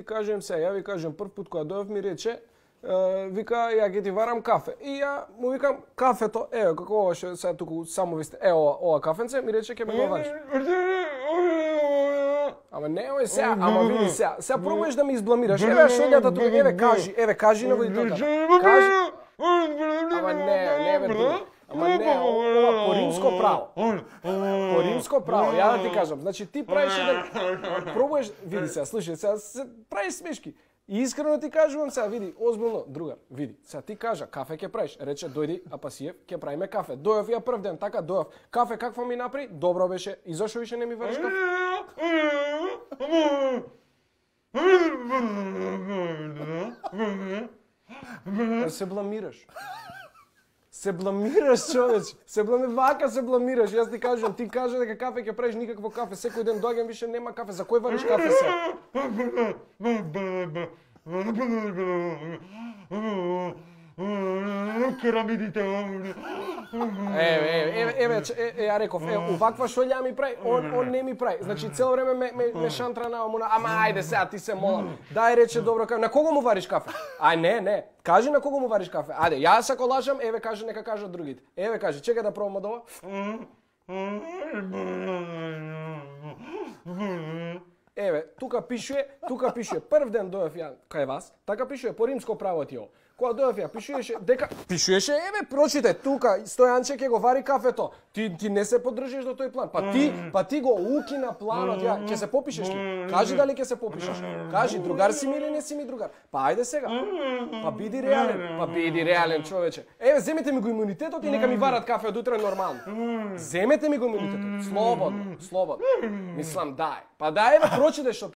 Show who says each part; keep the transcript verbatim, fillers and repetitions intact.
Speaker 1: Кажем се, ја ви кажем прв пат кога дојдов ми рече, е, вика ја ќе ти варам кафе. И ја му викам кафето, ево како ова што сега туку само ви сте, ево ова, ова кафенце, ми рече ќе ме го вариш. Ама не ој сега, ама види сега, сега пробуваш да ме избламираш. Еве шеѓата тука, еве кажи, еве кажи на водителка. Кажи. Ама не, не бе. Ама не, ова по римско право. По римско право, ја да ти кажам. Значи ти правиш еден, пробуваш, види сега, слушај, сега се правиш смешки. И искрено ти кажувам сега, види, озбилно, друга, види, сега ти кажа, кафе ќе правиш, рече, дојди, Апасиев, ќе правиме кафе. Дојав ја прв ден, така, дојав, кафе какво ми направи, добро беше, и зашо више не ми вариш кафе? Се бламираш. Се бламираш, човече. Се блами вака се бламираш. Јас ти кажам, ти кажа дека кафе ќе правиш, никакво кафе. Секој ден доаѓам, више нема кафе. За кој вариш кафе се?
Speaker 2: Керамидите.
Speaker 1: Еве, еве, еве, еве, ја реков, е, уваква шолја ми прави, он, он не ми прави. Значи цело време ме, ме, ме шантра на омуна, ама ајде сега ти се молам. Дај рече добро кафе. На кого му вариш кафе? Ај не, не. Кажи на кого му вариш кафе. Ајде, јас ако лажам, еве кажи нека кажат другите. Еве кажи, чекај да пробам од ова. Еве, тука пишуе, тука пишуе, прв ден дојав ја кај вас, така пишуе по римско право ти ово. Кога дојав ја, пишуеше дека пишуеше, еве прочите, тука Стојанче ќе го вари кафето. Ти ти не се поддржиш до тој план. Па ти, па ти го укина планот, ја ќе се попишеш ли? Кажи дали ќе се попишеш. Кажи другар си ми или не си ми другар. Па ајде сега. Па биди реален, па биди реален човече. Еве земете ми го имунитетот и нека ми варат кафе од утре нормално. Земете ми го имунитетот. Слободно, слободно. Мислам дај. Па дај еве прочите што